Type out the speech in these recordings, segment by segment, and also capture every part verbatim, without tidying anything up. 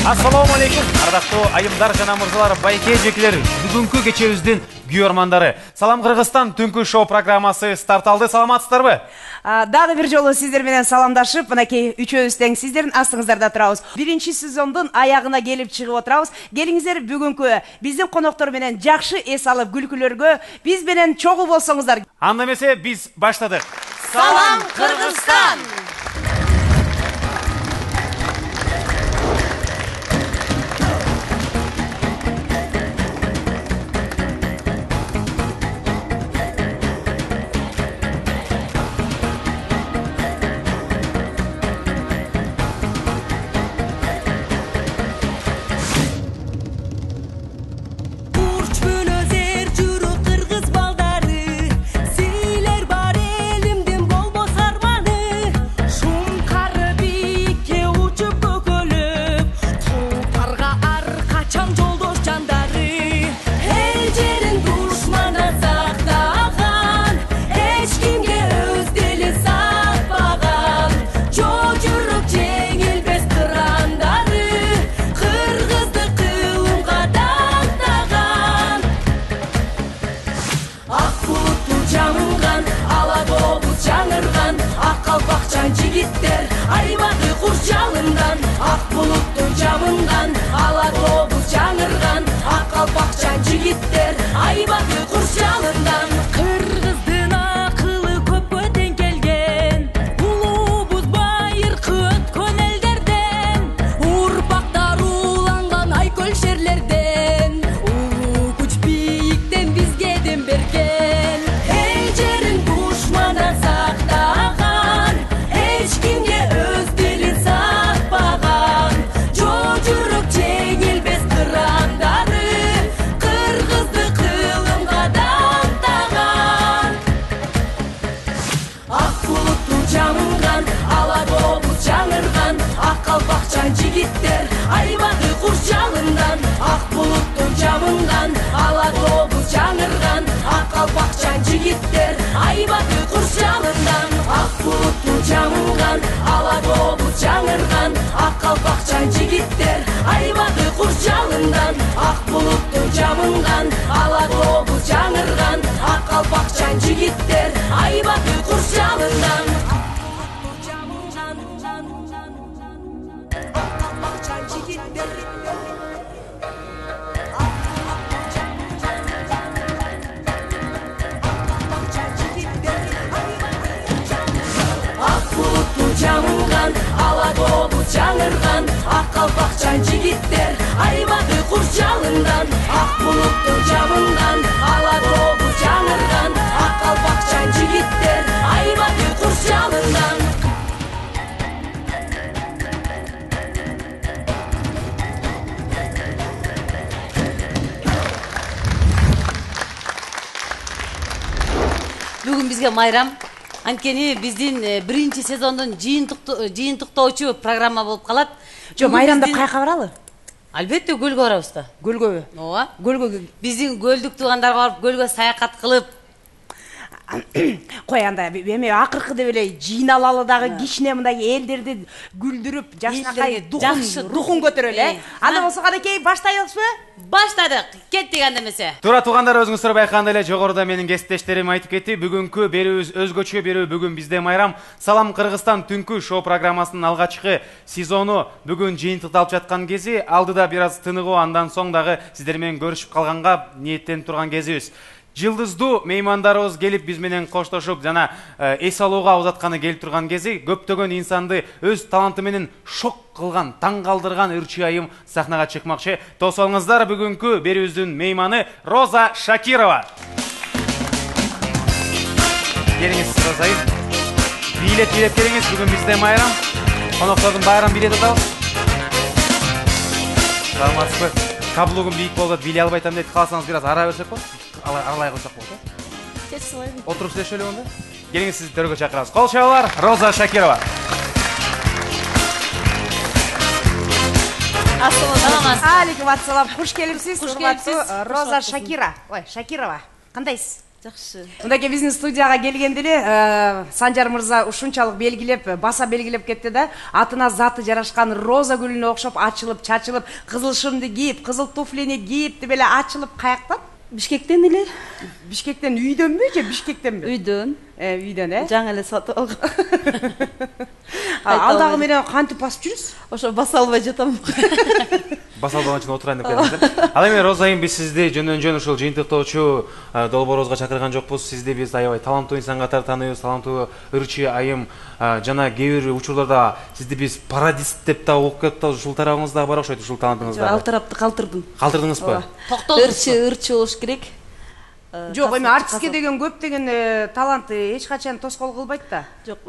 Assalomu alaykum. Ардактуу айымдар жана мырзалар, байке жекелер, бүгүнкү кечебиздин күйөрмандары. Салам Кыргызстан түнкү шоу программасы старт алды. Саламатсыздарбы? Дагы бир жолу сиздер менен саламдашып, мынакей үчөөбүз тең сиздердин астыңыздарда турабыз. Биринчи сезондун аягына келип чыгып отурабыз. Келиңиздер бүгүнкү биздин коноктор менен жакшы эс алып күлкүлөргө биз менен чогуу болсоңуздар. Анда эмесе биз баштадык. Салам Кыргызстан! Жигиттер айбады куш жалындан, ак булуттун жамындан ала тобуз жаңырган. Ак калпакчан жигиттер айбады куш жалындан. Кыргыздын акылы көпкө тең келген, улуубуз байыркы өткөн элдерден. Урпактар уланган айкөл шерлерден, улуу күч бийиктен бизге дем берген. Эл жерин душмандан сактаган, эч кимге өз дилин сатпаган, жоо жүрөк жеңилбес кырандары кыргызды кылымга даттаган. Ак булутту жамынган, ала тобуз жаңырган. Ак калпакчан жигиттер айбады куш жалындан, ак булутту жамынган, ала тобуз жаңырган. Ак калпакчан жигиттер айбады куш жалындан, ак булутту жамынган, ала тобуз жаңырган. Ак калпакчан жигиттер айбады куш жалындан, ак булутту жамынган, ала тобуз жаңырган. Ак калпакчан жигиттер айбады куш жалындан. Жамынган, ала тобуз жаңырган. Ак калпакчан жигиттер айбады куш жалындан, ак булутту жамынган, ала тобуз жаңырган. Ак калпакчан жигиттер айбады куш жалындан. Бүгүн бизге майрам. Анткени биздин биринчи сезондун жыйынтыктоочу программа болуп калат. Жо, майрамда кайка баралы? Албетте көлгө барабыз да. Көлгөбү? Ооба. Көлгө биздин көлдүк туугандарга барып көлгө саякат кылып. Кой анда эме акыркы деп эле жыйналалы дагы кичине мындай элдерди күлдүрүп, жакшынакай духун духун көтөрөлү, э? Анда болсо кадекей баштайбызбы? Баштадык. Кеттик анда эмесе. Туура туугандар, өзүңүздөр байкагандай эле жогоруда менин кесиптештерим айтып кетти. Бүгүнкү берүүбүз өзгөчө берүү. Бүгүн бизде майрам. Салам Кыргызстан түнкү шоу программасынын алгачкы сезону бүгүн жыйынтыкталып жаткан кези, алдыда бир аз тыныгуу, андан соң дагы сиздер менен көрүшүп калганга ниеттенип турган кезибиз. Жылдыздуу меймандарыбыз келип биз менен коштошуп жана эс алууга узатканы келип турган кези, көптөгөн инсанды өз таланты менен шок кылган, таң калтырган ырчы айым сахнага чыкмакчы. Тосуңуздар, бүгүнкү берүүбүздүн мейманы Роза Шакирова. Келиңиз, Роза айым. Бийлет бийлеп келиңиз, бүгүн бизде майрам. Коноктордун байрам бийлет атабыз. Саламатсызбы? Каблугум бийик болду, бийлей албай атам дейт. Кааласаңыз бир аз ара берсек болот. Аралай койсок болот, э? Кеч сылайбы. Отуруп сүйлөшөлү онда. Келиңиз, сизди төргө чакырабыз. Кол чабуулар, Роза Шакирова. Алейкум ассалам. Куш келипсиз, урматтуу Роза Шакира. Ой, Шакирова. Кандайсыз? Жакшы. Мындай биздин студияга келгенде эле Санжар мырза ушунчалык белгилеп, баса белгилеп кетти да, атына заты жарашкан роза гүлүнө окшоп ачылып, чачылып, кызыл шымды кийип, кызыл туфлини кийип деп эле ачылып каяктан? Бишкектен эле. Бишкектен үйдөнбү же Бишкектенби? Үйдөн. Э, үйдөн э? Жаңы эле сатып алгам. Алдагы менен кантип басып жүрүсүз? Ошо баса албай жатам. Баса албаган үчүн отурайын деп келдиңиз. Ал эми Роза айым, биз сизди жөндөн жөн ушул жыйынтыктоочу долбоорубузга чакырган жокпуз. Сизди биз аябай таланттуу инсан катары тааныйбыз. Таланттуу ырчы айым, жана кээ бир учурларда сизди биз пародист деп да угуп кетип, ушул тарабыңыз дагы бар окшойт, ушул талантыңызда. Ал тарапты калтырдым. Калтырдыңызбы? Ырчы, ырчы болуш керек. Жок, эми артистке деген көптөгөн таланты эч качан тоскоол кылбайт да. Жок,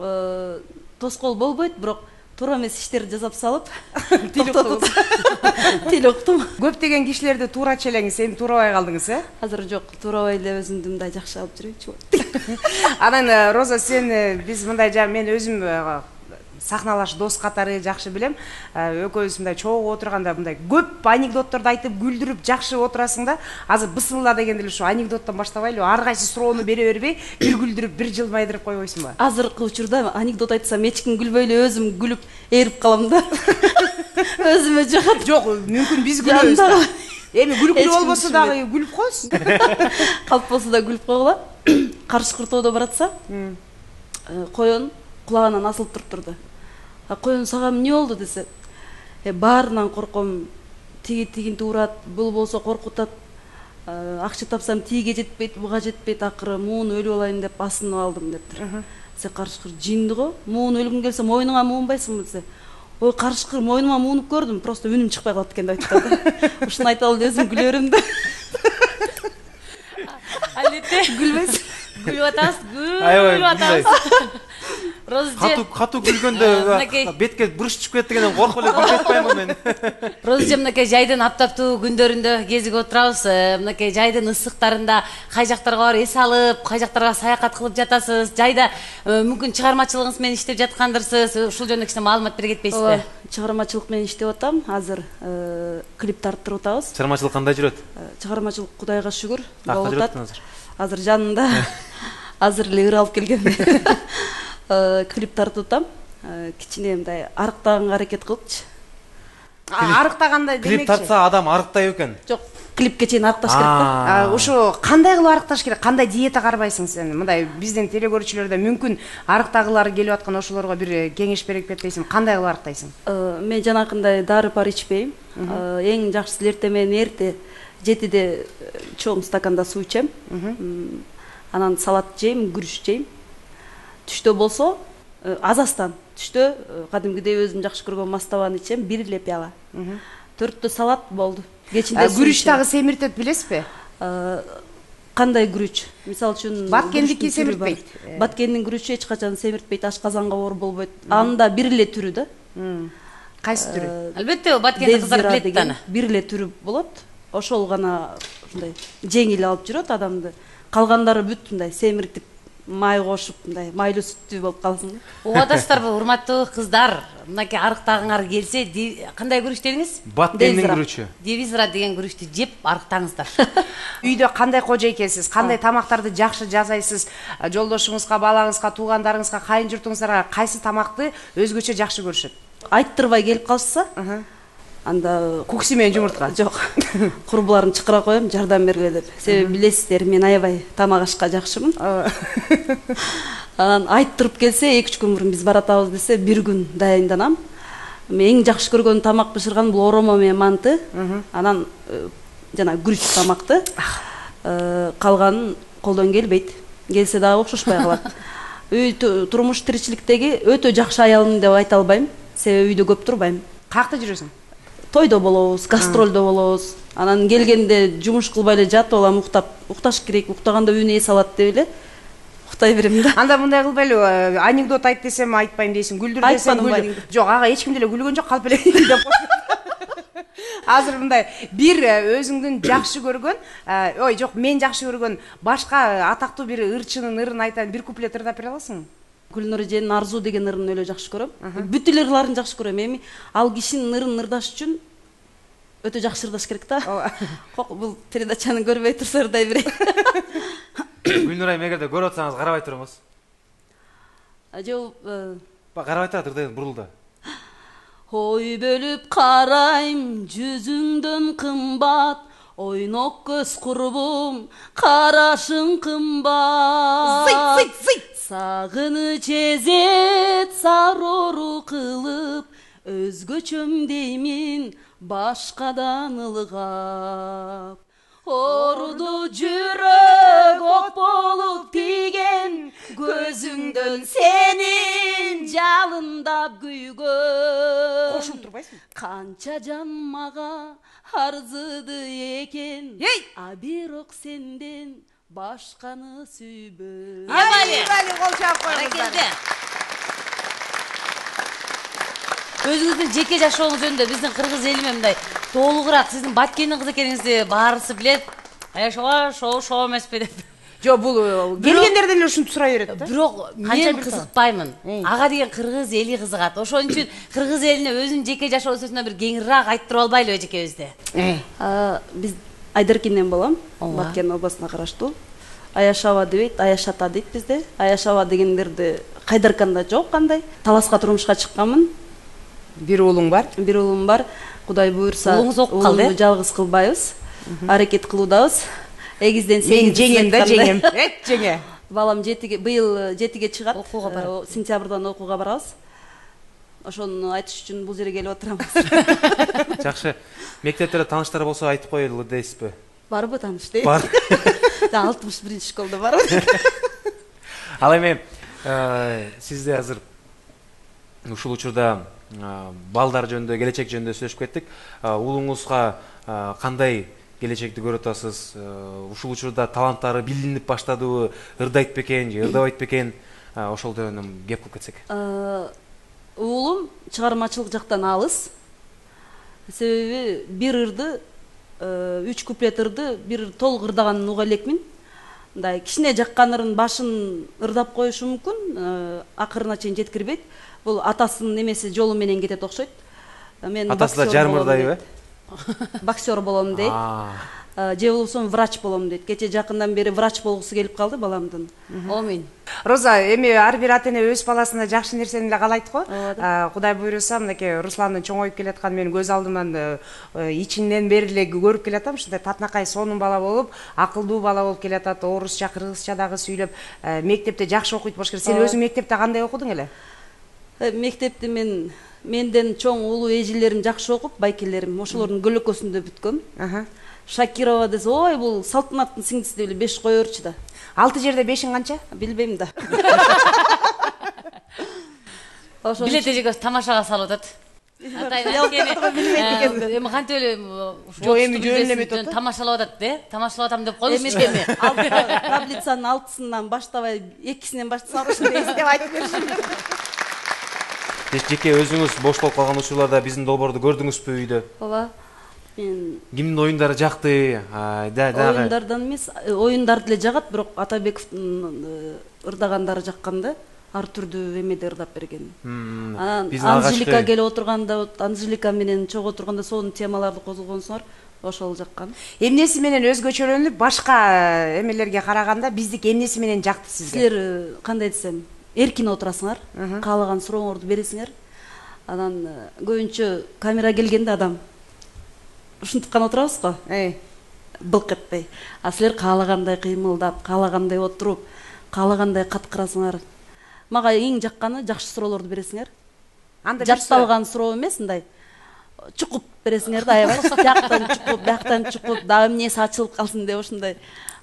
тоскоол болбойт, бирок туура эмес иштерди жасап салып, тил уктум. Тил уктум. Көптөгөн кишилерди туурачу элеңиз, эми туурабай калдыңыз, э? Азыр жок, туурабай эле өзүмдү мындай жакшы алып жүрөйчү. Анан Роза, сен биз мындай жа мен өзүм сахналаш дос катары жакшы билем. Экөөбүз мындай чогуу отурганда мындай көп анекдотторду айтып, күлдүрүп жакшы отурасың да. Азыр бысмылла дегенде эле ушу анекдоттон баштабайлы, ар кайсы суроону бере бербей, бир күлдүрүп, бир жылмайдырып койбойсуңбу? Азыркы учурда анекдот айтсам эч ким күлбөй эле өзүм күлүп ээрип калам да. Өзүмө жагат. Жок, мүмкүн биз күлөбүз да. Эми күлкүлүү болбосо дагы күлүп коесуң. Калп болсо да күлүп койгула. Каршы кыртоодо баратса, коён кулагынан асылып туруп турду. Коён сага эмне болду десе, баарынан корком, тиги тигинти урат, бул болсо коркутат, акча тапсам тиге жетпейт, буга жетпейт, акыры муун өлүп алайын деп асынып алдым дептир. Се карышкыр жинди го, муун өлгүң келсе мойнуңа муунбайсыңбы десе, ой карышкыр мойнума муунуп көрдүм, просто үнүм чыкпай калат экен деп айтты. Ушуну айта алып өзүм күлө берем да. Алетте Күлбөйсүң. күлүп атасыз, күлүп атасыз. Катуу катуу күлгөндө бетке буруш чыгып кетти дегенден коркуп эле күлүп атпаймынбы мен? Роза мынакей жайдын аптаптуу күндөрүндө кезип отурабыз. Мынакей жайдын ысыктарында кай жактарга барып эс алып, кай жактарга саякат кылып жатасыз? Жайда мүмкүн чыгармачылыгыңыз менен иштеп жаткандырсыз. Ушул жөнүндө кичине маалымат бере кетпейсизби? Чыгармачылык менен иштеп атам. Азыр клип тарттырып атабыз. Чыгармачылык кандай жүрөт? Чыгармачылык Кудайга шүгүр болуп атат. Азыр жанында азыр эле ыр алып келгем. Клип тартып атам. Кичине мындай арыктаганга аракет кылыпчы. Арыктагандай демекчи. Клип тартса адам арыктай экен. Жок, клипке чейин арыкташ керек да. Ушу кандай кылып арыкташ керек? Кандай диета карбайсың сен? Мындай биздин телекөрүүчүлөрдө мүмкүн арыктагылары келип аткан ошолорго бир кеңеш берип кетпейсиң? Кандай кылып арыктайсың? Мен жанакындай дары пар ичпейм. Эң жакшысы эртең менен эрте жетиде чоң стаканда суу ичем. Анан салат жейм, күрүч жейм. Түштө болсо азастан. Түштө кадимгидей өзүм жакшы көргөн мастабаны ичем, бир эле пияла. Төрттө салат болду. Кечинде күрүч дагы семиртет билесизби? Кандай күрүч? Мисалы үчүн Баткендики семиртпейт. Баткендин күрүчү эч качан семиртпейт, ашказанга оор болбойт. Анын да бир эле түрү да. Кайсы түрү? Албетте, Баткенди кыздар билет да аны. Бир эле түрү болот. Ошол гана ушундай жеңил алып жүрөт адамды. Калгандары бүт мындай семиртип, май кошуп, мындай майлуу сүттүү болуп калсын. Угадасыздарбы, урматтуу кыздар? Мынакей арыктагыңар келсе, кандай күрүч дедиңиз? Баткендин күрүчү. Девизра деген күрүчтү жеп арыктаңыздар. Үйдө кандай кожо экенсиз? Кандай тамактарды жакшы жасайсыз? Жолдошуңузга, балаңызга, туугандарыңызга, кайын журтуңуздарга кайсы тамакты өзгөчө жакшы көрүшөт? Айттырбай келип калышса, анда кукси менен жумуртка. Жок. Курбуларын чакыра коем, жардам бергиле деп. Себеби билесиздер, мен аябай тамак ашка жакшымын. Анан айттырып келсе, эки үч күн мурун биз баратабыз десе, бир күн дайынданам. Мен эң жакшы көргөн тамак бышырган бул оромо менен манты. Анан жана күрүч тамакты. Калганын колдон келбейт. Келсе дагы окшошпой калат. Үй турмуш тиричиликтеги өтө жакшы аялым деп айта албайм. Себеби үйдө көп турбайм. Каякта жүрөсүң? Тойдо болобуз, гастролдо болобуз. Анан келгенде жумуш кылбай эле жатып алам, уктап, укташ керек, уктаганда үйүнө эс алат деп эле уктай берем да. Анда мындай кылбайлы, анекдот айт десем айтпайм дейсиң, күлдүр десем күлдүр. Жок, ага эч ким деле күлгөн жок, калп эле деп коюп. Азыр мындай бир өзүңдүн жакшы көргөн, ой, жок, мен жакшы көргөн башка атактуу бир ырчынын ырын айтайын, бир куплет ырдап бере аласыңбы? Гүлнур эженин Арзу деген ырын өлө жакшы көрөм. Бүт эле ырларын жакшы көрөм. Эми ал кишинин ырын ырдаш үчүн өтө жакшы ырдаш керек да. Кок, бул передачаны көрбөй турса ырдай берейин. Гүлнур айым эгерде көрүп атсаңыз карабай туруңуз. Жооп Карабай тура турду, бурулду. Ой бөлүп карайм жүзүңдөн кымбат, ойнок көз курбум карашың кымбат. Зыйт, зыйт, зыйт. Сагыныч эзет сарору кылып, өзгөчөм деймин башкадан ылгап. Оруду жүрөк ок болуп тийген, көзүңдөн сенин жалындап күйгөн. Кошуп турбайсың? Канча жан мага арзыды экен, а бирок сенден башканы сүйбөм. Али, али, кол чаап коюңуздар. Өзүңүздүн жеке жашооңуз жөнүндө биздин кыргыз эли менен мындай толугураак сиздин Баткендин кызы экениңизди баарысы билет. Аяшоо шоо шоо эмеспи деп. Жок, бул келгендерден эле ушинтип сурай берет да. Бирок мен кызыкпаймын. Ага деген кыргыз эли кызыгат. Ошон үчүн кыргыз элине өзүнүн жеке жашоосуна бир кеңираак айттырып албайлыбы эжекебизди? Биз Айдаркинден болом. Баткен областына караштуу. Аяшаба дебейт, Аяшата дейт бизде. Аяшаба дегендерди Кайдарканда жок кандай. Таласка турмушка чыкканмын. Бир уулуң бар? Бир уулум бар. Кудай буйрса, уулуңуз окуп калды. Жалгыз кылбайбыз. Аракет кылуудабыз. Эгизден Мен жеңем да, жеңем. Эт жеңе. Балам жетиге, быйыл жетиге чыгат. Окууга барат. Сентябрдан окууга барабыз. Ошону айтыш үчүн бул жерге келип отурабыз. Жакшы. Мектепте тааныштар болсо айтып коелу дейсизби? Барбы тааныш дейт? Бар. алтымыш биринчи школда барбы. Ал эми сизде азыр ушул учурда балдар жөнүндө, келечек жөнүндө сүйлөшүп кеттик. Уулуңузга кандай келечекти көрүп атасыз? Ушул учурда таланттары билинип баштадыбы, ырдайт бекен же ырдабайт бекен? Ошол жөнүндө кеп кылып кетсек. Уулум чыгармачылык жактан алыс. Себеби бир ырды, үч куплет ырды, бир толук ырдаганын уга элекмин. Мындай кичине жаккан ырын башын ырдап коюшу мүмкүн, акырына чейин жеткирбейт. Бул атасынын немеси жолу менен кетет окшойт. Мен атасы да жарым ырдайбы? Боксер болом дейт. Же болбосо врач болом дейт. Кече жакындан бери врач болгусу келип калды баламдын. Омин. Роза, эми ар бир ата эне өз баласына жакшы нерсени эле каалайт го. Кудай буйруса, мынакей Русландын чоңоюп келатканын мен көз алдыман ичинен бери эле көрүп келатам. Ушундай татынакай сонун бала болуп, акылдуу бала болуп келатат. Орусча, кыргызча дагы сүйлөп, мектепте жакшы окуйт болуш керек. Сен өзүң мектепте кандай окудуң эле? Мектепти мен менден чоң улуу эжелерим жакшы окуп, байкелерим, ошолордун көлөкөсүндө бүткөм. Шакирова десе, ой, бул Салтанаттын сиңдиси деп эле беш коёрчу да. Алты жерде бешиң канча? Билбейм да. Билет эжекебиз тамашага салып атат. Эми кантип эле жок, эми жөн эле метод тамашалап атат, э? Тамашалап атам деп коюңузчу эми. Таблицанын алтысынан баштабай, экисинен баштасак деп айтып беришим. Жеке өзүңүз бош болуп калган учурларда биздин долбоорду көрдүңүзбү үйдө? Ооба. Мен кимдин оюндары жакты? Оюндардан эмес, оюндарды эле жагат, бирок Атабековдун ырдагандары жаккан да. Ар түрдүү эмеде ырдап берген. Анжелика келип отурганда, Анжелика менен чогуу отурганда сонун темаларды козгогонсуңар, ошол жаккан. Эмнеси менен өзгөчөлөнүп, башка эмелерге караганда биздики эмнеси менен жакты сизге? Силер кандай десем, эркин отурасыңар, каалаган сурооңорду бересиңер. Анан көбүнчө камера келгенде адам ушинтип гана отурабыз го. Былк этпей. А силер каалагандай кыймылдап, каалагандай отуруп, каалагандай каткырасыңар. Мага эң жакканы жакшы суроолорду бересиңер. Анда жатталган суроо эмес, мындай чукуп бересиңер да, аябай. Жактан чукуп, бияктан чукуп, дагы эмнеси ачылып калсын деп ошондой.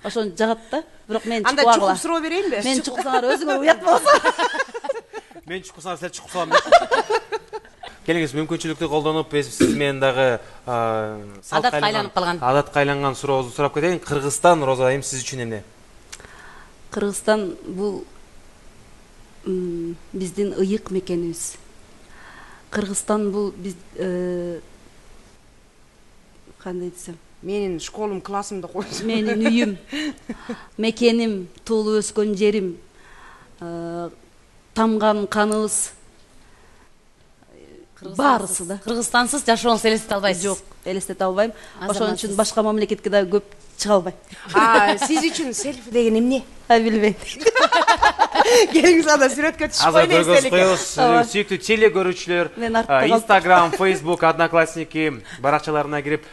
Ошону жагат да. Бирок мен чукуп анда чукуп суроо берейинби? Мен чукусаңар өзүңөр уят болсо. Мен чукусаңар силер чукуп салам. Келиңиз, мүмкүнчүлүктү колдонуп, сиз менен дагы адатка айланып калган. Адатка айланган сурообузду сурап кетейин. Кыргызстан, Роза айым, сиз үчүн эмне? Кыргызстан бул биздин ыйык мекенибиз. Кыргызстан бул биз кандай десем, менин школум, классымды койсо. Менин үйүм, мекеним, туулуп өскөн жерим, тамган каныбыз. баарысы да. Кыргызстансыз жашооңузду элестете албайсыз? Жок, элестете албайм. Ошон үчүн Азаматсыз. башка мамлекетке да көп чыга албайм. А сиз үчүн селфи деген эмне? А билбейм. Келиңиз анда сүрөткө түшүп Азыр койгула көргөз эстеликке. коебуз. Сүйүктүү теле көрүүчүлөр, Мен артта калдым. Instagram, Facebook, Одноклассники баракчаларына кирип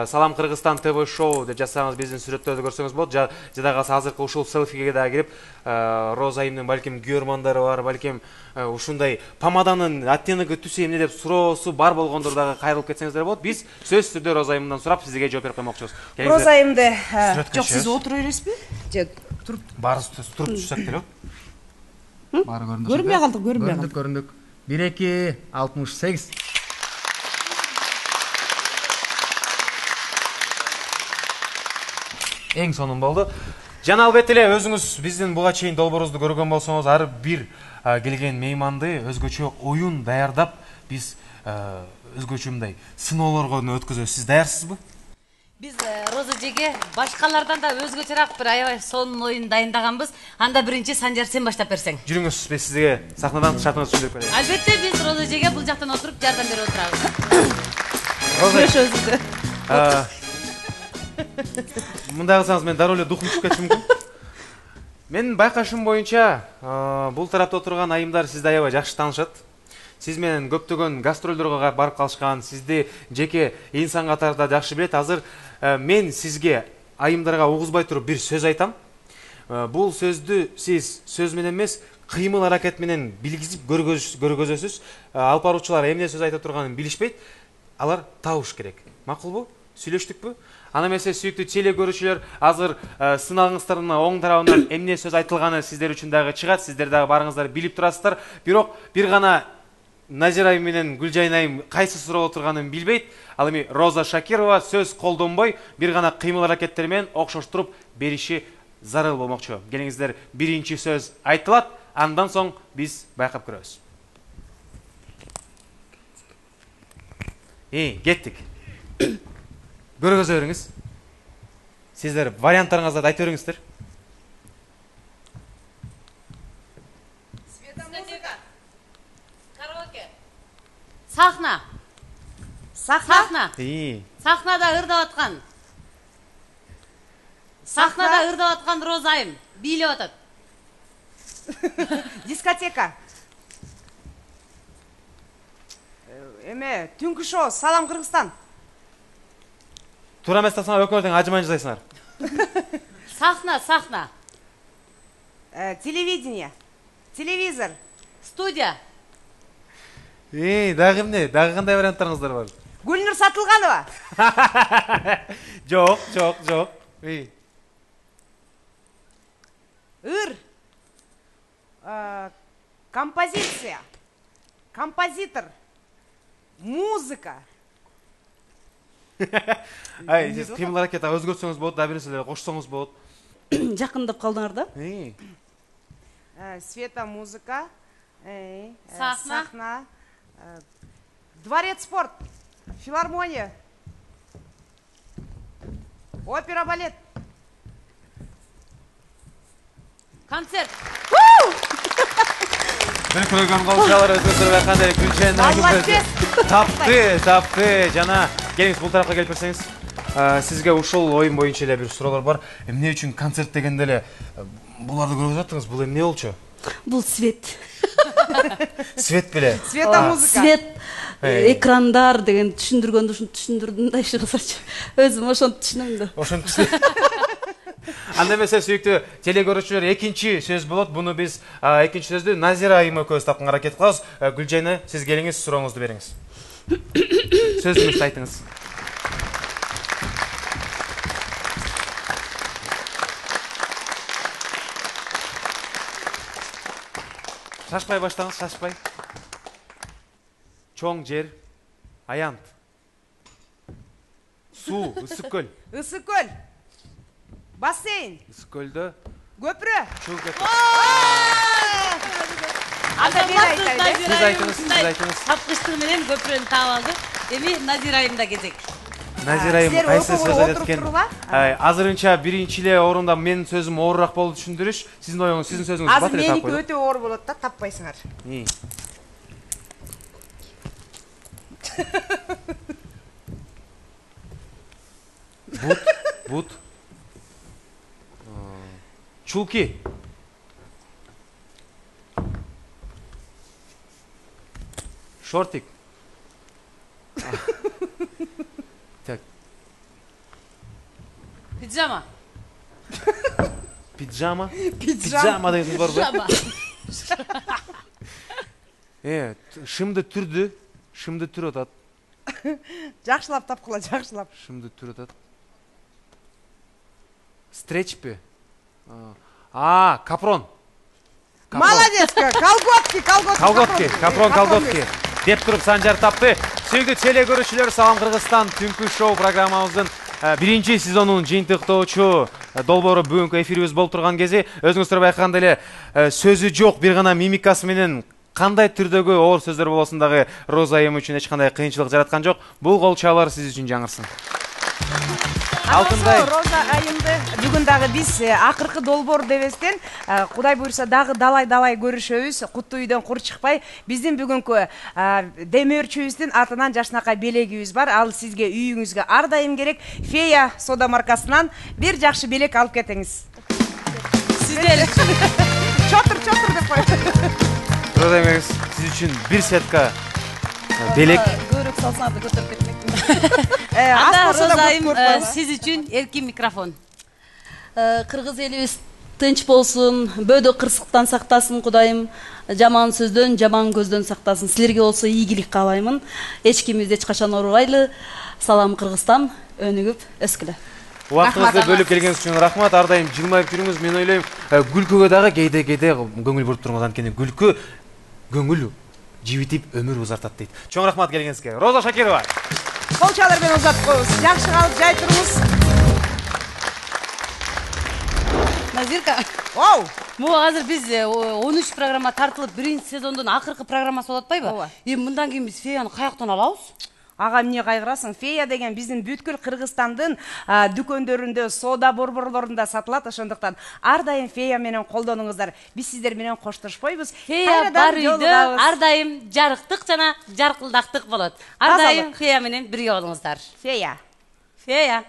Салам Кыргызстан ТВ шоу деп жазсаңыз биздин сүрөттөрдү көрсөңүз болот. Жада калса азыркы ушул селфиге да кирип Роза айымдын балким күйөрмандары бар, балким ушундай помаданын оттеногу түсү эмне деп суроосу бар болгондор дагы кайрылып кетсеңиздер болот. Биз сөзсүз түрдө Роза айымдан сурап сизге жооп берип коймокчубуз. Роза айымды Сүрөткө жок сиз чыгабыз. отура бересизби? Же туруп Баарыбыз туруп түшсөк деле. Баары көрүндүк. көрүнбөй калдык, көрүнбөй Көрүндүк, көрүндүк. бир эки алтымыш сегиз. Эң сонун болду. Жана албетте эле өзүңүз биздин буга чейин долбоорубузду көргөн болсоңуз, ар бир келген мейманды өзгөчө оюн даярдап, биз өзгөчө мындай сыноолорго өткөзөбүз. Сиз даярсызбы? Биз Роза эжеге башкалардан да өзгөчөраак бир аябай сонун оюн дайындаганбыз. Анда биринчи Санжар сен баштап берсең. Жүрүңүз, биз сизге сахнадан шартыңызды түшүндүрүп берели. Албетте биз Роза эжеге бул жактан отуруп жардам берип отурабыз. Роза, Көрөшөбүз. мындай кылсаңыз мен дароо эле духум түшүп кетиши мүмкүн. Менин байкашым боюнча, бул тарапта отурган айымдар сизди аябай жакшы таанышат. Сиз менен көптөгөн гастролдорго барып калышкан, сизди жеке инсан катарында жакшы билет. Азыр мен сизге айымдарга угузбай туруп бир сөз айтам. Бул сөздү сиз сөз менен эмес, кыймыл аракет менен билгизип көргөзөсүз. Алып баруучулар эмне сөз айта турганын билишпейт. Алар табыш керек. Макулбу? Сүйлөштүкпү? Ана эмесе сүйүктүү теле көрүүчүлөр, азыр сынагыңыздардын оң тарабынан эмне сөз айтылганы сиздер үчүн дагы чыгат. Сиздер дагы барыңыздар билип турасыздар. Бирок бир гана Назира айым менен Гүлжайна айым кайсы суроо отурганын билбейт. Ал эми Роза Шакирова сөз колдонбой, бир гана кыймыл аракеттер менен окшоштуруп бериши зарыл болмокчу. Келиңиздер, биринчи сөз айтылат, андан соң биз байкап көрөбүз. Эй, кеттик. Көргөзө бериңиз. Сиздер варианттарыңызды айтып бериңиздер. Сахна. Сахна. Сахна. Эй, Сахнада ырдап аткан. Сахнада ырдап аткан Роза айым бийлеп атат. Дискотека. Эме, түнкү шоу, Салам Кыргызстан. туура эмес тапсаңар өкмөртең ажымай жасайсыңар. Сахна, сахна. Э, Телевидение. Телевизор. Студия. Эй, дагы эмне? Дагы кандай варианттарыңыздар бар? Гүлнур Сатылганова. Жок, жок, жок. Эй. Ыр. Э, Композиция. Композитор. Музыка. Ай, сиз кыймыл аракет өзгөртсөңүз болот, да бир нерселерди кошсоңуз болот. Жакындап калдыңар да. Эй. Э, Света, музыка. Э, э, Сахна. Сахна. Э, Дворец спорт. Филармония. Опера, балет. Концерт. Мен көргөн калчалар өзүңүздөр кандай Гүлжайна Молодец. тапты, тапты. Жана келиңиз бул тарапка келип берсеңиз. Сизге ушул оюн боюнча эле бир суроолор бар. Эмне үчүн концерт дегенде эле буларды көргөзүп аттыңыз? Бул эмне болчу? Бул свет. Свет беле. Света, музыка. Свет, Эй. экрандар деген түшүндүргөндү ушинтип түшүндүрдүм да иши кылсачы. Өзүм ошентип түшүнөм да. Ошентип. Анда эмесе сүйүктүү теле көрүүчүлөр, экинчи сөз болот. Буну биз экинчи сөздү Назира айым экөөбүз тапканга аракет кылабыз. Гүлжайна, сиз келиңиз, сурооңузду бериңиз. Сөзүңүздү айтыңыз. Шашпай баштаңыз, шашпай. Чоң жер, аянт. Суу, ысык көл. Ысык көл. Бассейн. Ысык көлдө Көпүрө. чуу кетет. Анда мен айтайын. Сиз айтыңыз, сиз айтыңыз. Тапкычтыгы менен көпүрөнү таап алды. Эми Назира айымда кезек. Назира айым Силер кайсы окууга сөз айтат отуруп экен? турула? Азырынча биринчи эле орунда менин сөзүм оорураак болду түшүндүрүш. Сиздин оюңуз, сиздин сөзүңүз Азыр бат эле меники таппайбы? өтө оор болот да, таппайсыңар. Бут, бут. Чулки. Шортик. Так. Пиджама. Пиджама. Пиджама деген бар ба? Пиджама. Э, шымды түрдү, шымды түр атат. Жакшылап тапкыла, жакшылап. Шымды түр атат. Стречпи. А, капрон. Молодец, колготки, колготки. Колготки, капрон колготки. Деп туруп Санжар тапты. Сүйүктүү теле көрүүчүлөр, салам Кыргызстан түнкү шоу программабыздын биринчи сезонунун жыйынтыктоочу долбоору бүгүнкү эфирибиз болуп турган кези өзүңүздөр байкагандай эле сөзү жок, бир гана мимикасы менен кандай түрдөгү оор сөздөр болосун дагы Роза айым үчүн эч кандай кыйынчылык жараткан жок. Бул кол чабуулар сиз үчүн жаңырсын. Алтындай Роза айымды бүгүн дагы биз акыркы долбоор дебестен, Кудай буйрса дагы далай-далай көрүшөбүз. Куттуу үйдөн кур чыкпай. Биздин бүгүнкү демөөрчүбүздүн атынан жашынакай белегибиз бар. Ал сизге үйүңүзгө ар дайым керек. Фея сода маркасынан бир жакшы белек алып кетиңиз. Сиздер Чотур-чотур деп коет. Роза айым, сиз үчүн бир сетка белек. Көбүрөөк салсаңар да көтөрүп кетмекмин. Анда Роза айым сиз үчүн эркин микрофон. Кыргыз элибиз тынч болсун, бөөдө кырсыктан сактасын Кудайым, жаман сөздөн, жаман көздөн сактасын. Силерге болсо ийгилик каалаймын. Эч кимибизди эч качан урубайлы. Салам Кыргызстан, өнүгүп өскүлө. Убактыңызды бөлүп келгениңиз үчүн рахмат. Ар дайым жылмайып жүрүңүз. Мен ойлойм, күлкүгө дагы кээде-кээде көңүл буруп туруңуз, анткени күлкү көңүл жибитип өмүр узартат дейт. Чоң рахмат келгениңизге. Роза Шакирова. Кол чалар менен узатып коебуз. Жакшы калып жай туруңуз. Назирка. Вау! Могу азыр биз он үч программа тартылып, биринчи сезондун акыркы программасы болуп атпайбы? Ооба. Эми мындан кийин биз Феяны каяктан алабыз? Ага, эмне кайгырасың? Фея деген биздин бүткүл Кыргызстандын дүкөндөрүндө, сода борборлорунда сатылат. Ошондуктан ар дайым Фея менен колдонуңуздар. Биз сиздер менен коштошпойбуз. Фея бар үйдө ар дайым жарыктык жана жаркылдактык болот. Ар дайым Фея менен бирге болуңуздар. Фея. Фея.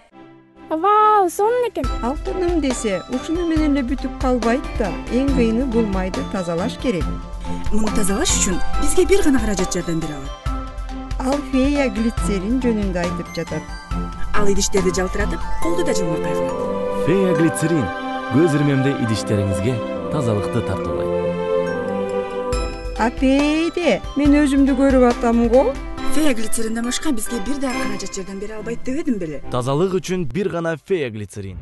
Вау, сонун экен. Алтыным десе, ушуну менен эле бүтүп калбайт да. Эң кыйыны бул майды тазалаш керек. Муну тазалаш үчүн бизге бир гана каражат жардам бере алат. Ал Фея глицерин жөнүндө айтып жатат. Ал идиштерди жалтыратып, колду да жылмакай кылат. Фея глицерин көз ирмемде идиштериңизге тазалыкты тартуулайт. Апейде, мен өзүмдү көрүп атам го. Фея глицеринден башка бизге бир да каражат жардам бере албайт дебедим беле? Тазалык үчүн бир гана Фея глицерин.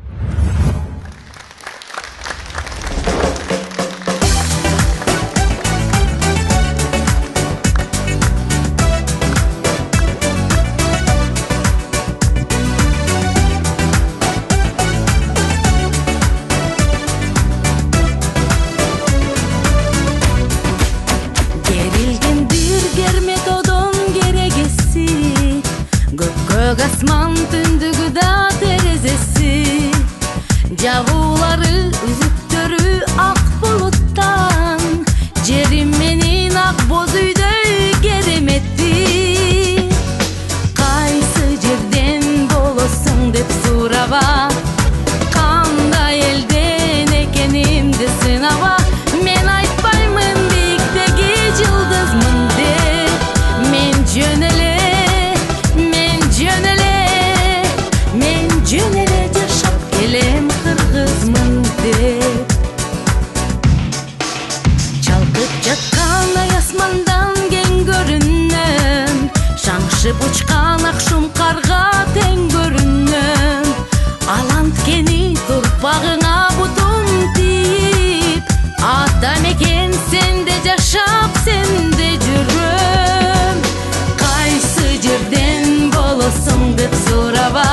Asman tündügü da terezesi, Cağuları üzüktörü ak buluttan, Cerimenin ak bozuydu gerim etti. Kaysı cerden bolosun dep suraba, Kanday elden ekenimde sınava, Men aytpaymun biktegi yıldızmın de, Men jönele Jönele yaşap gelem Kırgızmın dep. Çalkıp жаткан ай асмандан кең көрүнөм, Шаңшып учкан акшум карга тең көрүнөм. Аланткени турпагыңа бутум тийип, Ата мекен сенде жашап, сенде жүрөм. Кайсы жерден болосуң деп сураба,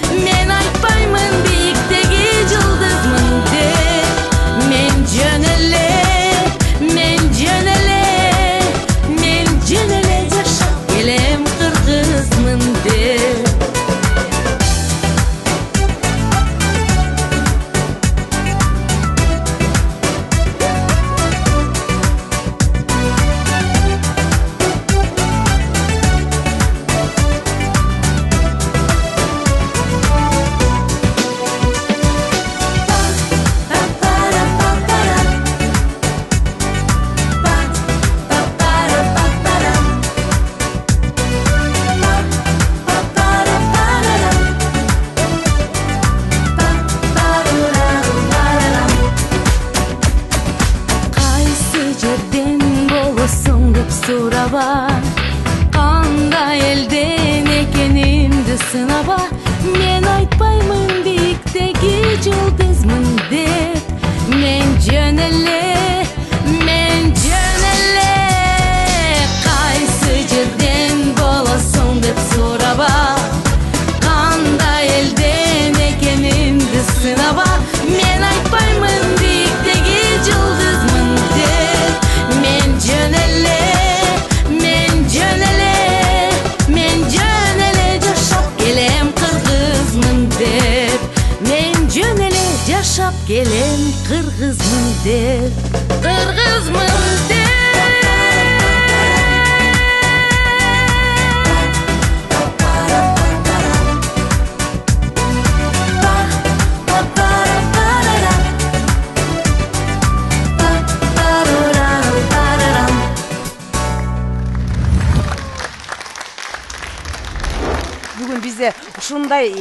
Men aytpaymun biyiktegi yıldızmın dep. Men jönele, men jönele, men jönele yaşap gelem Kırgızmın dep. сураба, кандай элден экенимди сынаба. Мен айтпаймын бийиктеги жылдызмын деп. Мен жөн эле, мен жөн эле, кайсы жерден болосуң деп сураба, кандай элден экенимди сынаба. Мен айтпаймын бийиктеги жылдызмын деп. Мен жөн эле, мен жөн эле, мен жөн эле жашап келем кыргызмын деп. Мен жөн эле жашап келем кыргызмын деп. Кыргызмын деп. Бүгүн бизде ушундай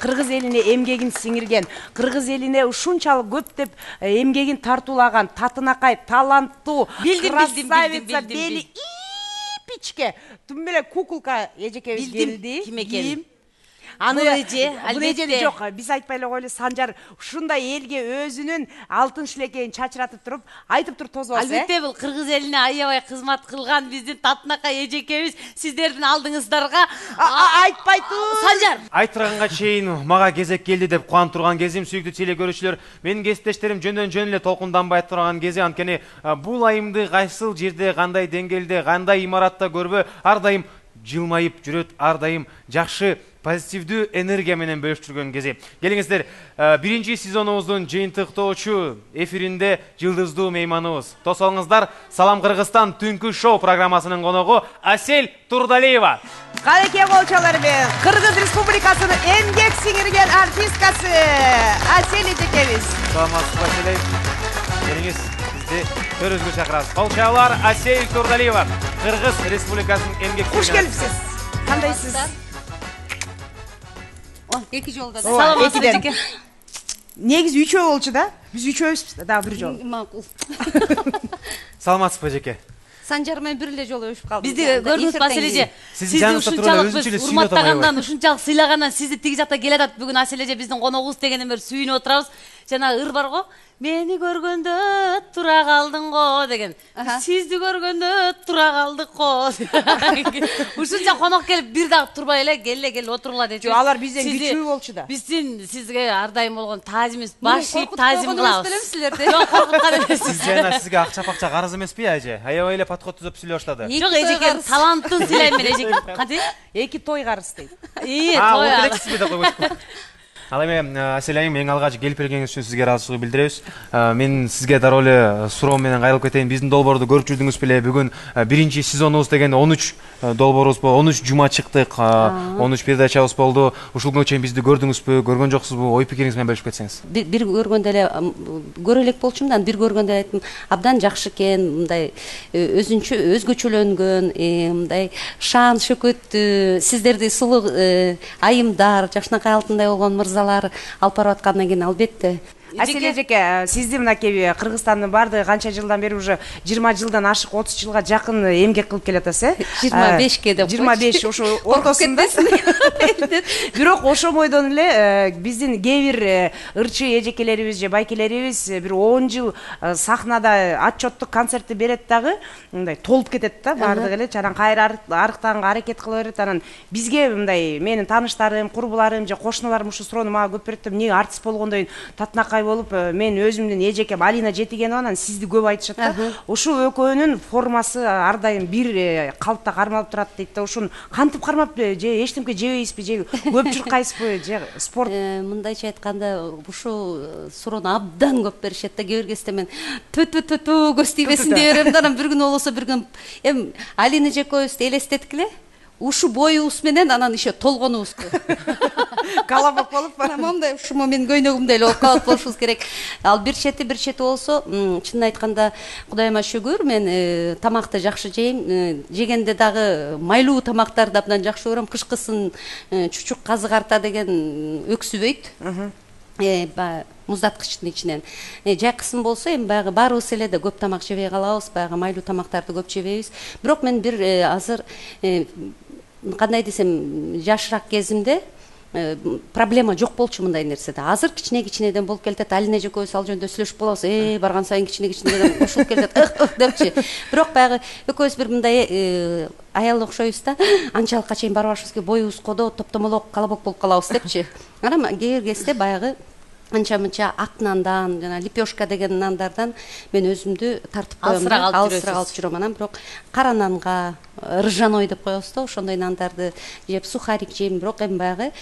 кыргыз элине эмгегин сиңирген, кыргыз элине ушунчалык көптөп эмгегин тартуулаган татынакай таланттуу красавица бели ипичке тум эле куколка эжекебиз келди. Ким экен? Аны эже, бул эжени жок, биз айтпай эле коелу, Санжар ушундай элге өзүнүн алтын шилекейин чачыратып туруп айтып туруп тосубасыз. Албетте бул кыргыз элине аябай кызмат кылган биздин татынакай эжекебиз сиздердин алдыңыздарга айтпай тур. Санжар. Айтырганга чейин мага кезек келди деп кубанып турган кезим, сүйүктүү теле көрүүчүлөр, менин кесиптештерим жөндөн жөн эле толкунданбай турган кези, анткени бул айымды кайсыл жерде, кандай деңгээлде, кандай имаратта көрбө, ар дайым жылмайып жүрөт, ар дайым жакшы позитивдүү энергия менен бөлүштүргөн кези. Келиңиздер, биринчи сезонубуздун жыйынтыктоочу эфиринде жылдыздуу мейманыбыз. Тосолуңуздар, Салам Кыргызстан түнкү шоу программасынын коногу Асель Турдалиева. Калеке болчолор менен Кыргыз Республикасынын эмгек сиңирген артисткасы Асель эжекебиз. Саламатсызбы, Асель? Келиңиз, бизди төрүбүзгө чакырабыз. Колчалар Асель Турдалиева, Кыргыз Республикасынын эмгек сиңирген. Куш келипсиз. Кандайсыз? Эки жолда. Саламатсызбы эжеке? Негизи үчөө болчу да. Биз үчөөбүз да бир жол. Макул. Саламатсызбы эжеке? Санжар менен бир эле жолу өшүп калдым. Бизди көрдүңүзбү, Асель эже? Сизди ушунчалык биз урматтагандан, ушунчалык сыйлагандан сизди тиги жакта келатат. Бүгүн Асель эже биздин коногубуз дегенден бери сүйүнүп отурабыз. Жана ыр бар го, мени көргөндө тура калдың го деген. Сизди көргөндө тура калдык го. Ушунча конок келип бир дагы турбай эле келе келе отургула дечү. Алар бизден күчүү болчу да. Биздин сизге ар дайым болгон таазимибиз баш ийип таазим кылабыз. Силерди. Жок, коркуткан эмес. Сиз жана сизге акча пакча карыз эмеспи, эже? Аябай эле подход түзөп сүйлөй баштады. Жок, эжеке таланттын сыйлайм мен эжеке. Кантип? Эки той карыз дейт. Ии, той. А, отурексизби деп койбойсузбу? Ал эми Асель айым, эң алгач келип келгениңиз үчүн сизге ыраазычылык билдиребиз. Мен сизге дароо эле суроо менен кайрылып кетейин. Биздин долбоорду көрүп жүрдүңүз беле? Бүгүн биринчи сезонубуз деген он үч долбоорубуз болду. он үч жума чыктык. он үч передачабыз болду. Ушул күнгө чейин бизди көрдүңүзбү, көргөн жоксузбу? Ой пикириңиз менен бөлүшүп кетсеңиз. Бир көргөндө эле көрө элек болчумун да, бир көргөндө айттым, абдан жакшы экен, мындай өзүнчө өзгөчөлөнгөн, мындай шаан шөкөт, сиздерди сулуу айымдар, жакшынакай алтындай болгон мырза алып барып аткандан кийин албетте. Асель эжеке, сизди мынакей Кыргызстандын бардыгы канча жылдан бери, уже жыйырма жылдан ашык, отуз жылга жакын эмгек кылып келатасыз, э? жыйырма бешке деп. жыйырма беш ошо ортосунда. Бирок ошо бойдон эле биздин кээ бир ырчы эжекелерибиз же байкелерибиз бир он жыл сахнада отчеттук концертти берет дагы, мындай толуп кетет да, бардыгы эле чанан кайра арыктаганга аракет кыла берет. Анан бизге мындай менин тааныштарым, курбуларым же кошуналарым ушу суроону мага көп берет да, эмне артист болгондон кийин татынакай болуп, мен өзүмдүн эжекем Алина Жетигенова, анан сизди көп айтышат да. Ушул экөөнүн формасы ар дайым бир калпта кармалып турат дейт да. Ушуну кантип кармап, же эчтемке жебейсизби, же көп чуркайсызбы, же спорт? Мындайча айтканда, ушул суроону абдан көп беришет да. Кээ бир кезде мен тө тө тө тө көз тийбесин дей берем да, анан бир күн болсо бир күн эми Алина эжекебизди элестеткиле. Ушу боюбуз менен анан еще толгонубузду. Калабок болуп, мондай ушумо менин көйнөгүмдөй эле болуп калып болушубуз керек. Ал бир чети бир чети болсо, чынын айтканда, Кудайыма шүгүр, мен тамакты жакшы жейм. Жегенде дагы майлуу тамактарды абдан жакшы көрөм. Кышкысын чучук казы карта деген өксүбөйт. баягы муздаткычтын ичинен. Жайкысын болсо эми баягы баарыбыз эле да көп тамак жебей калабыз, баягы майлуу тамактарды көп жебейбиз. Бирок мен бир азыр кандай десем, жашыраак кезимде проблема жок болчу мындай нерседе. Азыр кичине-кичинеден болуп келатат. Алина экөөбүз ал жөнүндө сүйлөшүп калабыз. Э, барган сайын кичине-кичинеден кошулуп келатат. Ых, депчи. Бирок баягы экөөбүз бир мындай аял окшойбуз да. Анчалыкка чейин барбашыбыз керек, боюбуз кодо, топтомолок, колобок болуп калабыз депчи. Анан кээ бир кезде баягы анча-мынча ак нандан, жана лепешка деген нандардан мен өзүмдү тартып коем, алысыраак алып жүрөм. Анан бирок кара нанга, ржаной деп коебуз да, ошондой нандарды жеп, сухарик жейм. Бирок эми баягы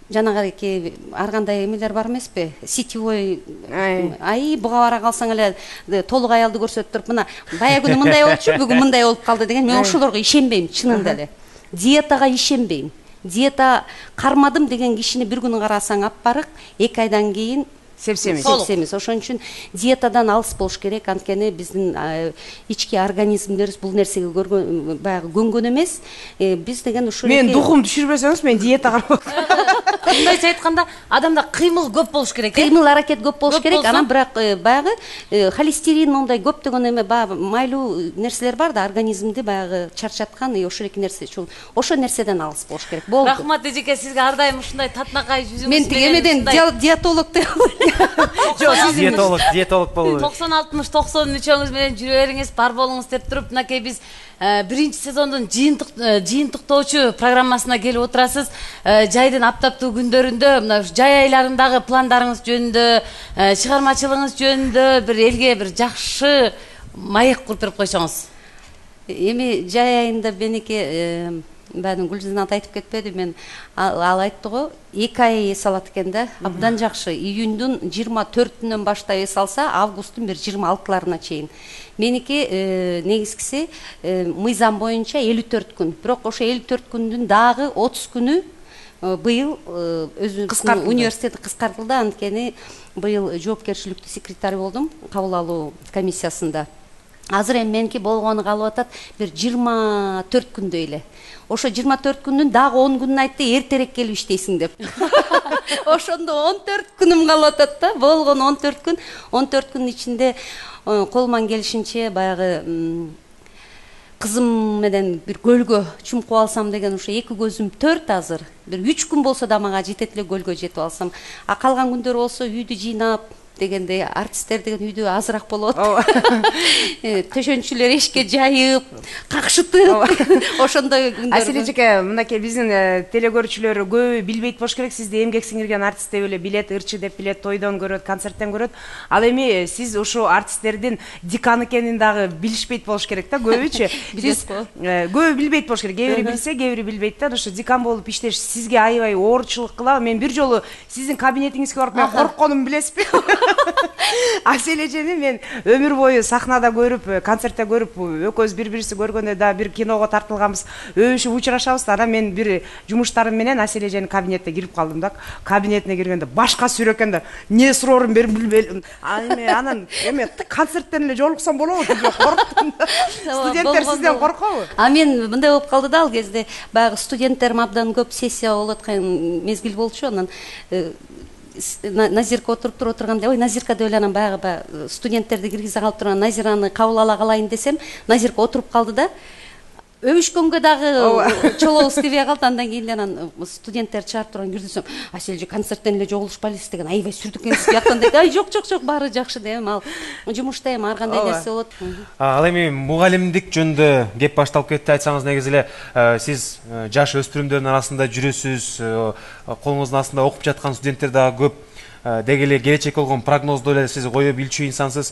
жанагы ар кандай эмелер бар эмеспи? Сетевой, ай буга бара калсаң эле толук аялды көрсөтүп туруп, мына бая күнү мындай болчу, бүгүн мындай болуп калды деген, мен ошолорго ишенбейм, чынында эле. Диетага ишенбейм. Диета кармадым деген кишини бир күн карасаң аппарык, эки айдан кийин сепсемиз. Сепсемиз. Ошон үчүн диетадан алыс болуш керек. Анткени биздин ички организмдерибиз бул нерсеге көргөн, баягы көнгөн эмес. Биз деген ушул мен духум түшүрбөсөңүз, мен диета кармап. Мындайча айтканда, адамда кыймыл көп болуш керек. Кыймыл аракет көп болуш керек. Анан бирок баягы холестерин, мондай көптөгөн эме баягы майлуу нерселер бар да, организмди баягы чарчаткан, ошол эки нерсе үчүн ошол нерседен алыс болуш керек. Болду. Рахмат эжеке, сизге ар дайым ушундай татынакай жүзүңүз менен. Мен тигемеден диетолог деп Жок, сиз диетолог, диетолог болду. токсон алтымыш токсон үчөөңүз менен жүрө бериңиз, бар болуңуз деп туруп, мынакей биз биринчи сезондун жыйынтык жыйынтыктоочу программасына келип отурасыз. Жайдын аптаптуу күндөрүндө мына жай айларындагы пландарыңыз жөнүндө, чыгармачылыгыңыз жөнүндө бир элге бир жакшы маек куруп берип койсоңуз. Эми жай айында меники баарын Гүлжинат айтып кетпеди, мен ал айтты го, эки ай эс алат экен да, абдан жакшы. Июндун жыйырма төртүнөн баштап эс алса, августтун бир жыйырма алтыларына чейин. Меники негизгиси мыйзам боюнча элүү төрт күн. Бирок ошо элүү төрт күндүн дагы отуз күнү быйыл өзүнүн университети кыскартылды. Анткени быйыл жоопкерчиликтүү секретарь болдум кабыл алуу комиссиясында. Азыр эми меники болгону калып атат бир жыйырма төрт күндөй эле. Ошо жыйырма төрт күндүн дагы он күнүн айтты, эртерээк келип иштейсиң деп. Ошондо он төрт күнүм калып атат да, болгону он төрт күн. он төрт күнүн ичинде колуман келишинче баягы кызым менен бир көлгө чумкуп алсам деген, ошо эки көзүм төрт азыр. Бир үч күн болсо да мага жетет эле көлгө жетип алсам. А калган күндөр болсо үйдү жыйнап дегенде, артисттер деген үйдө азыраак болот. Төшөнчүлөр эшикке жайып, какшытып, ошондой күндөр. Аселе эжеке, мынакей биздин телегөрүүчүлөр көбү билбейт болуш керек, сизди эмгек сиңирген артист деп эле билет, ырчы деп билет, тойдон көрөт, концерттен көрөт. Ал эми сиз ошо артисттердин деканы экенин дагы билишпейт болуш керек да, көбүчү. Сиз көбү билбейт болуш керек. Кээ бири билсе, кээ бири билбейт да. Ошо декан болуп иштеш сизге аябай оорчулук кылабы? Мен бир жолу сиздин кабинетиңизге барып, мен коркконумду билесизби? Аселе эжени мен өмүр бою сахнада көрүп, концертте көрүп, экөөбүз бири-бирибизди көргөндө да бир киного тартылганбыз, өбүшүп учурашабыз да. Анан мен бир жумуштарым менен Аселе эженин кабинетине кирип калдым да. Кабинетине киргенде башка сүрө экен да. Не суроорун берип билбей. Анан эме концерттен эле жолуксам болобу деп корктум да. Студенттер сизден коркобу? А мен мындай болуп калды да, ал кезде баягы студенттерим абдан көп, сессия болуп аткан мезгил болчу. Анан Назирка отуруп туруп отурганда, ой Назирка деп эле анан баягы студенттерди киргизе калып турган Назираны кабыл ала калайын десем, Назирка отуруп калды да. Өбүшкөнгө дагы чолобуз тийбей калды. Андан кийин анан студенттер чыгарып турган кирдисем, Аселже концерттен эле жогулушпайлысыз деген, аябай сүрдүк экенсиз бияктан деп. Ай жок жок жок, баары жакшы дейм. Ал жумушта эми ар кандай нерсе болот. Ал эми мугалимдик жөнүндө кеп башталып кетти. Айтсаңыз, негизи эле сиз жаш өспүрүмдөрдүн арасында жүрөсүз, колуңуздун астында окуп жаткан студенттер дагы көп. Деги эле келечек болгон прогнозду эле сиз кое билчү инсансыз.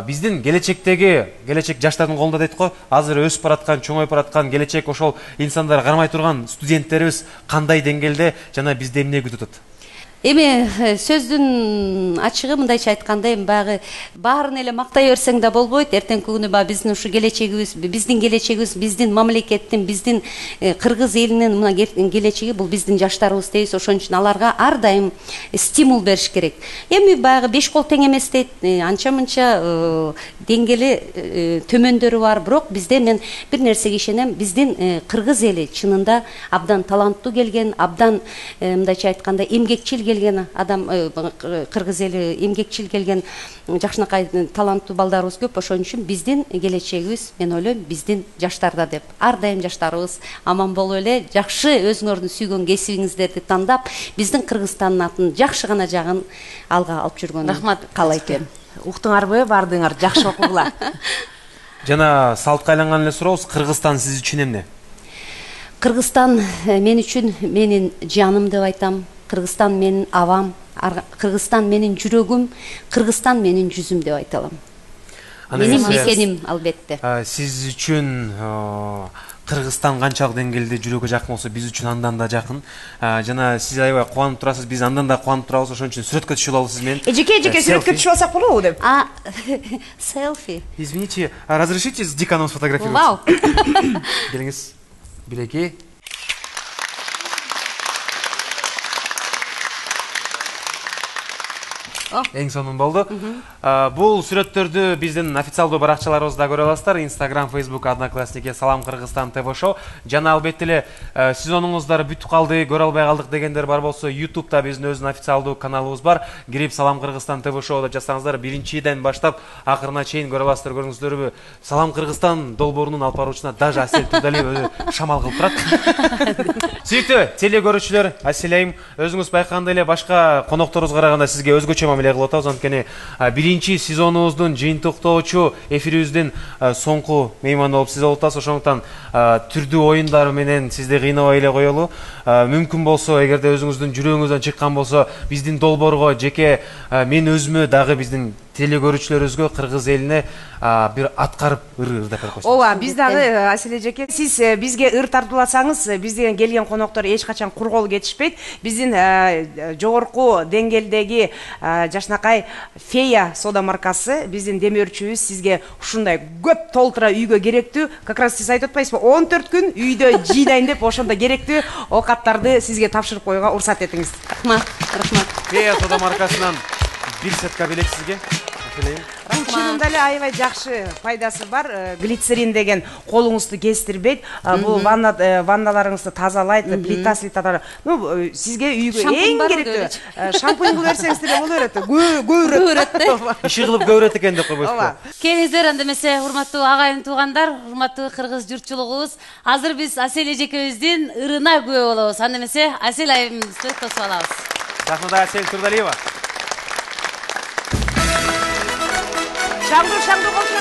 Биздин келечектеги, келечек жаштардын колунда дейт го. Азыр өсүп бараткан, чоңоюп бараткан келечек ошол инсандар кармай турган студенттерибиз кандай деңгээлде жана бизде эмне күтүп атат? Эми сөздүн ачыгы мындайча айтканда эми баягы баарын эле мактай берсең да болбойт. Эртеңки күнү баягы биздин ушу келечегибиз, биздин келечегибиз, биздин мамлекеттин, биздин кыргыз элинин мына келечеги бул биздин жаштарыбыз дейбиз. Ошон үчүн аларга ар дайым стимул бериш керек. Эми баягы беш кол тең эмес дейт. Анча-мынча деңгели төмөндөрү бар, бирок бизде мен бир нерсеге ишенем. Биздин кыргыз эли чынында абдан таланттуу келген, абдан мындайча айтканда эмгекчил келген адам, кыргыз эли эмгекчил келген жакшынакай таланттуу балдарыбыз көп. Ошон үчүн биздин келечегибиз, мен ойлойм, биздин жаштарда деп. Ар дайым жаштарыбыз аман болуп эле, жакшы өзүңөрдүн сүйгөн кесибиңиздерди тандап, биздин Кыргызстандын атын жакшы гана жагын алга алып жүргөн. Рахмат. Каалайт эм. Уктуңарбы бардыңар, жакшы окугула. Жана салтка айланган эле сурообуз, Кыргызстан сиз үчүн эмне? Кыргызстан мен үчүн менин жаным деп айтам. Кыргызстан менин авам, Кыргызстан менин жүрөгүм, Кыргызстан менин жүзүм деп айта алам. Менин мекеним албетте. Сиз үчүн Кыргызстан канчалык деңгээлде жүрөгкө жакын болсо, биз үчүн андан да жакын. Жана сиз аябай кубанып турасыз, биз андан да кубанып турабыз. Ошон үчүн сүрөткө түшүп алабыз сиз менен. Эжеке, эжеке сүрөткө түшүп алсак болобу деп? А, селфи. Извините, разрешите с деканом сфотографироваться? Вау. Келиңиз. Билеки. Эң сонун болду. Бул сүрөттөрдү биздин официалдуу баракчаларыбызда көрө аласыздар. Instagram, Facebook, Одноклассники, Салам Кыргызстан тэ вэ шоу. Жана албетте эле сезонуңуздар бүтүп калды, көрө албай калдык дегендер бар болсо, YouTube'да биздин өзүнүн официалдуу каналыбыз бар. Кирип Салам Кыргызстан тэ вэ шоу деп жазсаңыздар, биринчиден баштап акырына чейин көрө аласыздар, көрүңүздөрбү? Салам Кыргызстан долбоорунун алып баруучусуна даже Асель Турдалиева шамал кылып турат. Сүйүктүү теле көрүүчүлөр, Асель айым, өзүңүз байкагандай эле башка конокторубузга караганда сизге өзгөчө мамиле кылып атабыз. Анткени биринчи сезонубуздун жыйынтыктоочу эфирибиздин соңку мейманы болуп сиз болуп атасыз. Ошондуктан түрдүү оюндар менен сизди кыйнабай эле коелу. Мүмкүн болсо, эгерде өзүңүздүн жүрөгүңүздөн чыккан болсо, биздин долбоорго, жеке мен өзүмө дагы биздин теле көрүүчүлөрүбүзгө, кыргыз элине бир аткарып ыр ырдап берип койсоңуз. Ооба, биз дагы Асель эжеке, сиз бизге ыр тартууласаңыз, бизден келген коноктор эч качан кур кол кетишпейт. Биздин жогорку деңгээлдеги жакшынакай Фея сода маркасы биздин демөөрчүбүз сизге ушундай көп толтура үйгө керектүү, как раз сиз айтып атпайсызбы, он төрт күн үйдө жыйнайын деп ошондо керектүү оокаттарды сизге тапшырып коюуга уруксат этиңиз. Рахмат, рахмат. Фея сода маркасынан бир сетка белек сизге. Бул чынында эле аябай жакшы пайдасы бар. Глицерин деген колуңузду кестирбейт. Бул ванна ванналарыңызды тазалайт, плита слиталар. Ну, сизге үйгө эң керектүү шампунь кылып берсеңиз деле боло берет. Көбүрөт. Иши кылып көбүрөт экен деп койбойсузбу? Келиңиздер анда эмесе, урматтуу агайын туугандар, урматтуу кыргыз журтчулугубуз. Азыр биз Асель эжекебиздин ырына күбө болобуз. Анда эмесе, Асель айымызды тосуп алабыз. Рахмат, Асель Турдалиева. Шаңду, шаңду болчу.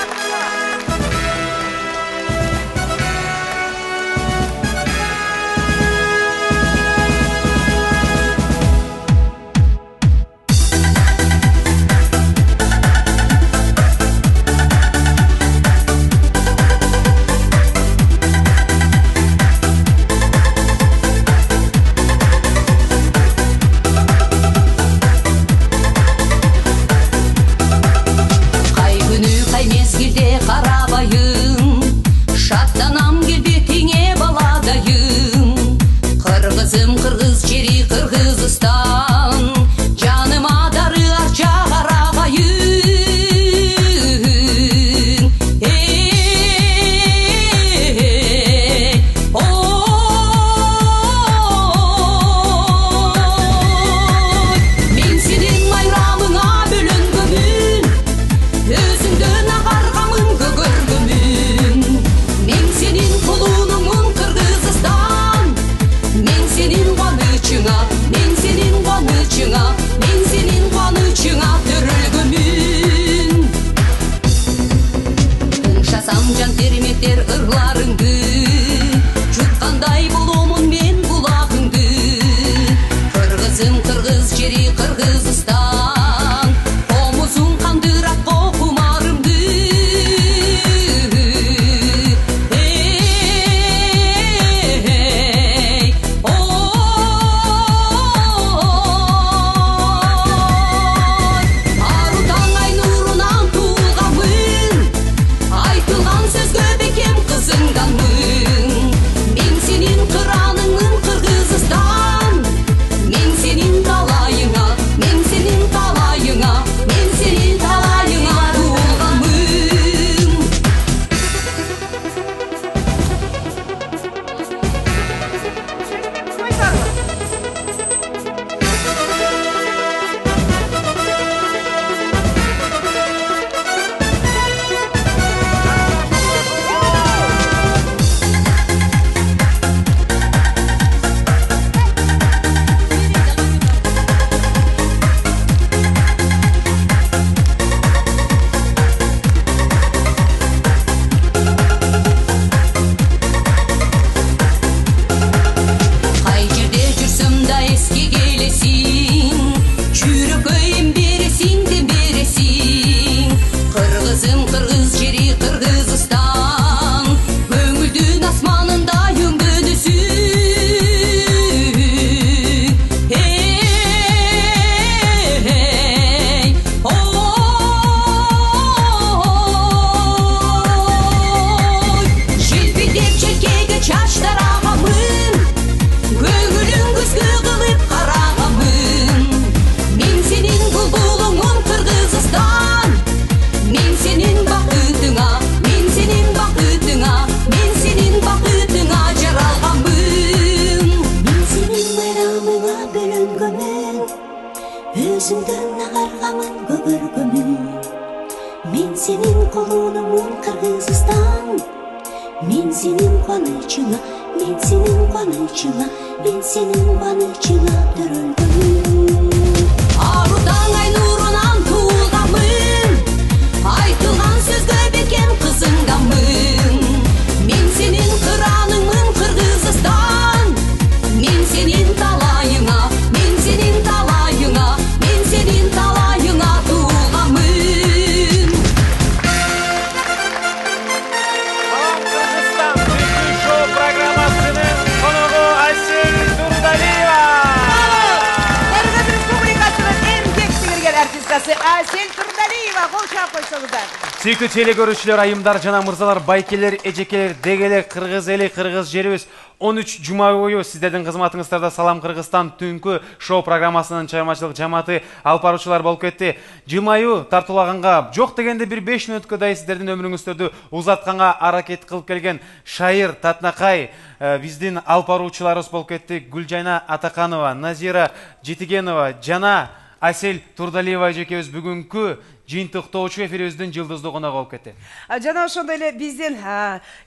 мен сенин кубанычыңа, мен сенин кубанычыңа, мен сенин кубанычыңа төрөлгөм. Аруудан ай нурунан туулганмын, айтылган сөзгө бекем кызынганмын. Мен сенин кыраныңмын Кыргызстан, мен сенин талайыңа, мен сенин талайыңа, мен сенин талайыңа туулганмын. Салам Кыргызстан Түнкү шоу программасынын коногу Айсель Турдалиева. Кыргыз Республикасынын эң кең сиңирген артисткасы Айсель Турдалиева, кол чаап койсоңуздар. Сүйүктүү теле көрүүчүлөр, айымдар жана мырзалар, байкелер, эжекелер, дегелер, кыргыз эли, кыргыз жерибиз он үч жума бою сиздердин кызматыңыздарда Салам Кыргызстан Түнкү шоу программасынын чыгармачылык жамааты алып баруучулар болуп кетти. Жылмаю тартуулаганга, жок дегенде бир беш мүнөткөдөй сиздердин өмүрүңүздөрдү узатканга аракет кылып келген Шайыр Татнакай биздин алып баруучуларыбыз болуп кетти. Гүлжайна Атаканова, Назира Жетигенова жана Айсель Турдалиева эжекебиз бүгүнкү жыйынтыктоочу эфирибиздин жылдыздуу коногу болуп кетти. Жана ошондой эле биздин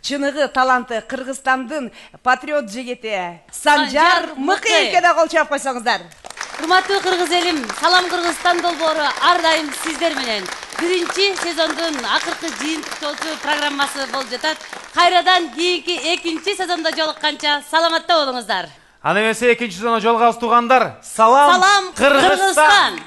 чыныгы таланты Кыргызстандын патриот жигити Санжар Мыкыевге да кол чаап койсоңуздар. Урматтуу кыргыз элим, Салам Кыргызстан долбоору ар дайым сиздер менен. Биринчи сезондун акыркы жыйынтыктоочу программасы болуп жатат. Кайрадан кийинки экинчи сезондо жолукканча саламатта болуңуздар. Аны эмесе экинчи сезондо жолугабыз туугандар. Салам, Салам Кыргызстан. Кыргызстан.